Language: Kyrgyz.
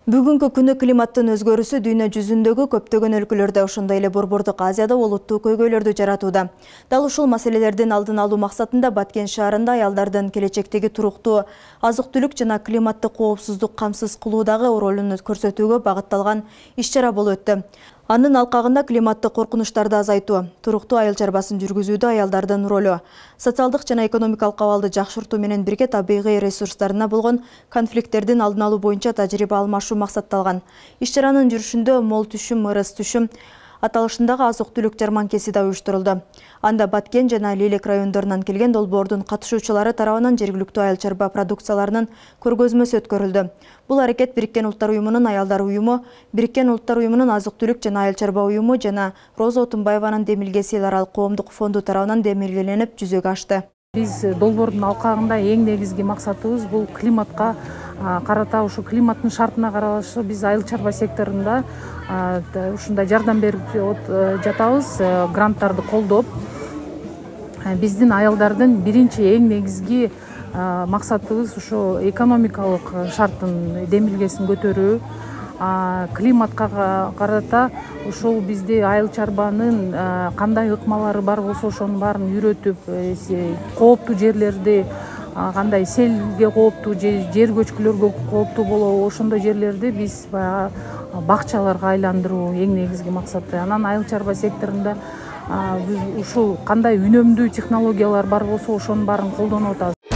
Бүгүнкү күнү климаттын өзгөрүүсү дүйнө жүзүндөгү көптөгөн өлкөлөрдө, ошондой эле Борбордук Азияда олуттуу көйгөйлөрдү жаратууда. Дал ушул маселелердин алдын алуу максатында Баткен шаарында аялдардын келечектеги туруктуу азык-түлүк жана климаттык коопсуздук камсыз кылуудагы ролун көрсөтүүгө багытталган иш-чара болуп өттү. Анын алкагында климаттык коркунучтарды азайтуу, туруктуу айыл чарбасын жүргүзүүдө аялдардын ролу, социалдык жана экономикалык абалды жакшыртуу менен бирге табигый ресурстарына болгон конфликттердин алдын алуу боюнча тажрыйба алмашуу максатталган. Иш-чаранын жүрүшүндө мол түшүм, ырыс түшүм аталышындагы азык-түлүк жарманкеси да уюштурулду. Анда Баткен жана Лелек райондорунан келген долбоордун катышуучулары тарабынан жергиликтүү айыл чарба продукцияларынын көргөзмөсү өткөрүлдү. Бул аракет Бириккен Улуттар уюмунун аялдар уюму, Бириккен Улуттар уюмунун азык-түлүк жана айыл чарба уюму жана Роза Отунбаеванын демилгеси эл аралык коомдук фонду тарабынан демилгеленип жүзөгө ашты. Биз долбоордун алкагында эң негизги максатыбыз бул климатка карата, ушу климаттын шартына карашы биз айыл чарба секторунда ушундай жардам берип жатабыз, гранттарды колдоп. Биздин аялдардын биринчи эң негизги максатыбыз ушу экономикалык шарттын демилгесин көтөрүү. Климатка карата ушул бизди айыл чарбанын кандай ыкмалары бар болсо ошонун баарын үйрөтүп, кооптуу жерлерди кандай селге кооптуу же жер көчкүлөргө кооптуу болобу, ошондой жерлерди биз баягы бакчаларга айландыруу эң негизги максаты. Анан айыл чарба секторунда биз ушул кандай үнөмдүү технологиялар бар болсо ошонун баарын колдонуп атабыз.